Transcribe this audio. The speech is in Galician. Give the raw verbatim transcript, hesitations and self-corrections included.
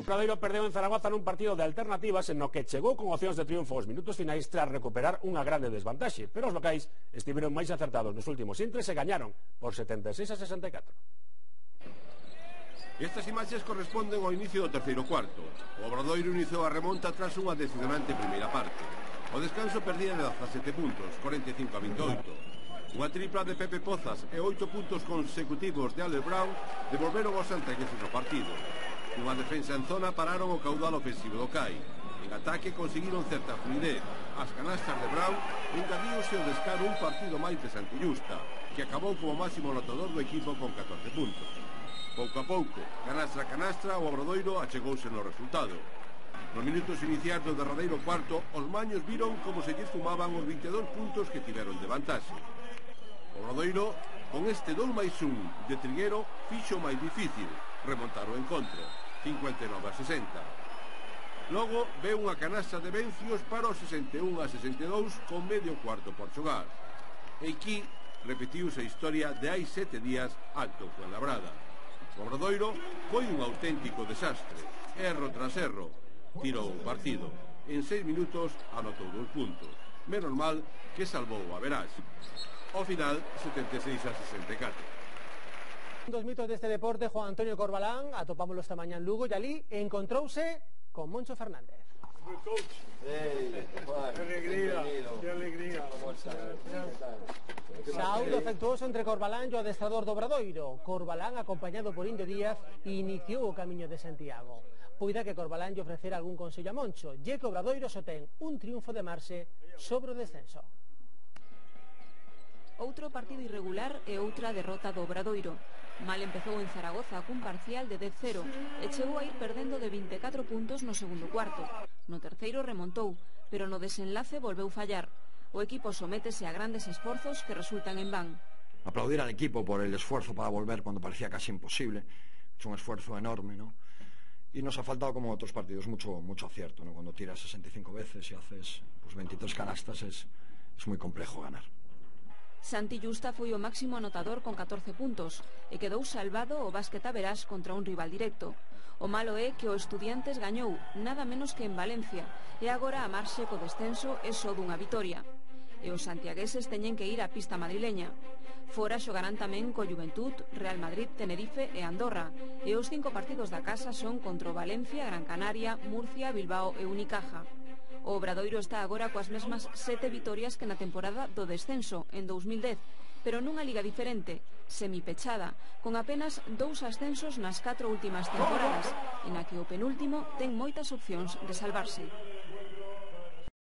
Obradoiro perdeu en Zaragoza nun partido de alternativas en no que chegou con opcións de triunfo aos minutos finais tras recuperar unha grande desvantaxe, pero os locais estiveron máis acertados nos últimos intres e gañaron por setenta e seis a sesenta e catro. Estas imaxes corresponden ao inicio do terceiro cuarto. O Obradoiro iniciou a remonta tras unha decisionante primeira parte. O descanso perdía de dezasete puntos, cuarenta e cinco a vinte e oito. Unha tripla de Pepe Pozas e oito puntos consecutivos de Albert Brown devolveron os santiagueses ao partido. Unha defensa en zona pararon o caudal ofensivo do C A I. En ataque conseguiron certa fluidez. As canastas de Brown engadíose o descaro un partido máis de Santillusta, que acabou como máximo anotador do equipo con catorce puntos. Pouco a pouco, canastra a canastra, o Obradoiro achegouse no resultado. Nos minutos iniciais do derradeiro cuarto, os maños viron como se lles fumaban os vinte e dous puntos que tiveron de vantaxe. O Obradoiro, con este dous máis un de Triguero, fixo máis difícil remontar o encontro, cincuenta e nove a sesenta. Logo ve unha canasta de Vencios para o sesenta e un a sesenta e dous con medio cuarto por xogar. E aquí repetiuse a historia de hai sete días alto Fuenlabrada. O Obradoiro foi un auténtico desastre, erro tras erro, tirou o partido. En seis minutos anotou dous puntos. Menos mal que salvou a verás. Ao final, setenta e seis a sesenta e catro. Dos mitos deste deporte, Juan Antonio Corbalán, atopámoslo esta mañá en Lugo, e ali encontrouse con Moncho Fernández. Hey, Juan, qué alegría, qué alegría. Saúdo afectuoso entre Corbalán e o adestrador do Obradoiro. Corbalán, acompañado por Indio Díaz, iniciou o camiño de Santiago. Poida que Corbalán lle ofrecera algún consello a Moncho, lle que o Obradoiro só ten un triunfo de marxe sobre o descenso. Outro partido irregular e outra derrota do Obradoiro. Mal empezou en Zaragoza cun parcial de dez cero e chegou a ir perdendo de vinte e catro puntos no segundo cuarto. No terceiro remontou, pero no desenlace volveu fallar. O equipo sométese a grandes esforzos que resultan en van. Aplaudir al equipo por el esfuerzo para volver cuando parecía casi imposible. Es un esfuerzo enorme, ¿no? Y nos ha faltado, como otros partidos, mucho, mucho acierto, ¿no? Cuando tiras sesenta y cinco veces y haces pues, veintitrés canastas es, es muy complejo ganar. Santillusta foi o máximo anotador con catorce puntos e quedou salvado o básquet a verás contra un rival directo. O malo é que o Estudiantes gañou nada menos que en Valencia e agora a marxe co descenso é só dunha vitoria. E os santiagueses teñen que ir á pista madrileña. Fora xogarán tamén co Juventud, Real Madrid, Tenerife e Andorra, e os cinco partidos da casa son contra o Valencia, Gran Canaria, Murcia, Bilbao e Unicaja. O Obradoiro está agora coas mesmas sete vitorias que na temporada do descenso, en dous mil dez, pero nunha liga diferente, semipechada, con apenas dous ascensos nas catro últimas temporadas, en a que o penúltimo ten moitas opcións de salvarse.